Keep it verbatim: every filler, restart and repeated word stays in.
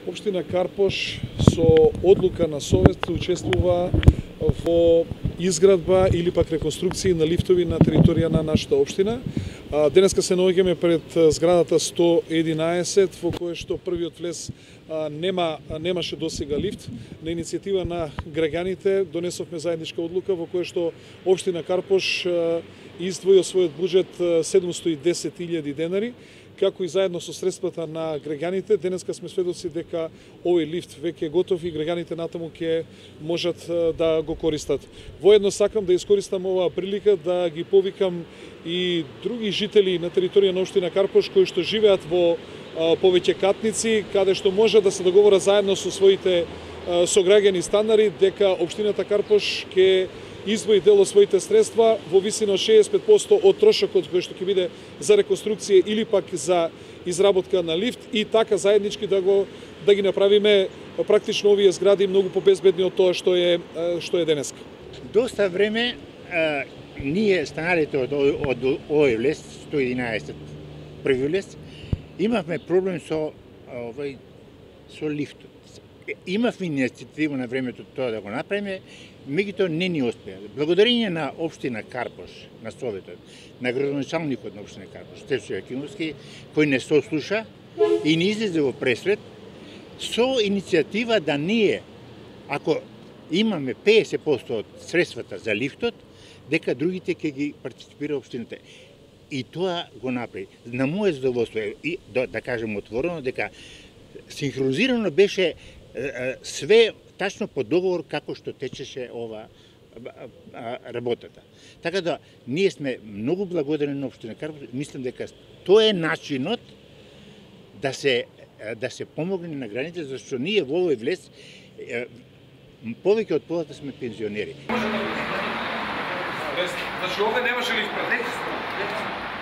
Општина Карпош со одлука на Совет учествува во изградба или пак реконструкција на лифтови на територија на нашата општина. Денеска се наоѓаме пред зградата сто единаесет, во која што првиот влез нема немаше досега лифт. На иницијатива на граѓаните донесовме заедничка одлука во која што општина Карпош издвои од својот буџет седумстотини и десет илјади денари, како и заедно со средствата на граѓаните. Денеска сме сведоци дека овој лифт веќе е готов и граѓаните натаму ќе можат да го користат. Воедно сакам да искористам оваа прилика да ги повикам и други жители на територија на општина Карпош кои што живеат во повеќе катници, каде што може да се договорат заедно со своите сограѓани станари дека општината Карпош ќе издвои дел од своите средства во висина од шеесет и пет проценти од трошокот кој што ќе биде за реконструкција или пак за изработка на лифт и така заеднички да го да ги направиме практично овие згради многу побезбедни од тоа што е што е денеска. Доста време а, ние станарите од од овој влез сто единаесет први влез имавме проблем со овој со лифтот. Имавме иницијатива на времето тоа да го направиме, меѓутоа не ни успеа. Благодарение на општина Карпош, на Советот, на градоначалникот на општина Карпош, Стефчо Јакимовски, кој не сослуша и не излезе во пресвет, со иницијатива да ние, ако имаме педесет проценти од средствата за лифтот, дека другите ќе ги партиципира општината. И тоа го направи. На моје задоволство и да, да кажем отворено дека синхронизирано беше све тачно по договор како што течеше ова работата. Така да ние сме многу благодарни на општина Карпош. Мислам дека тоа е начинот да се да се помогне на граѓаните, зашто ние во овој влез повеќе од полата сме пензионери. Значи овде немаше лифт пред?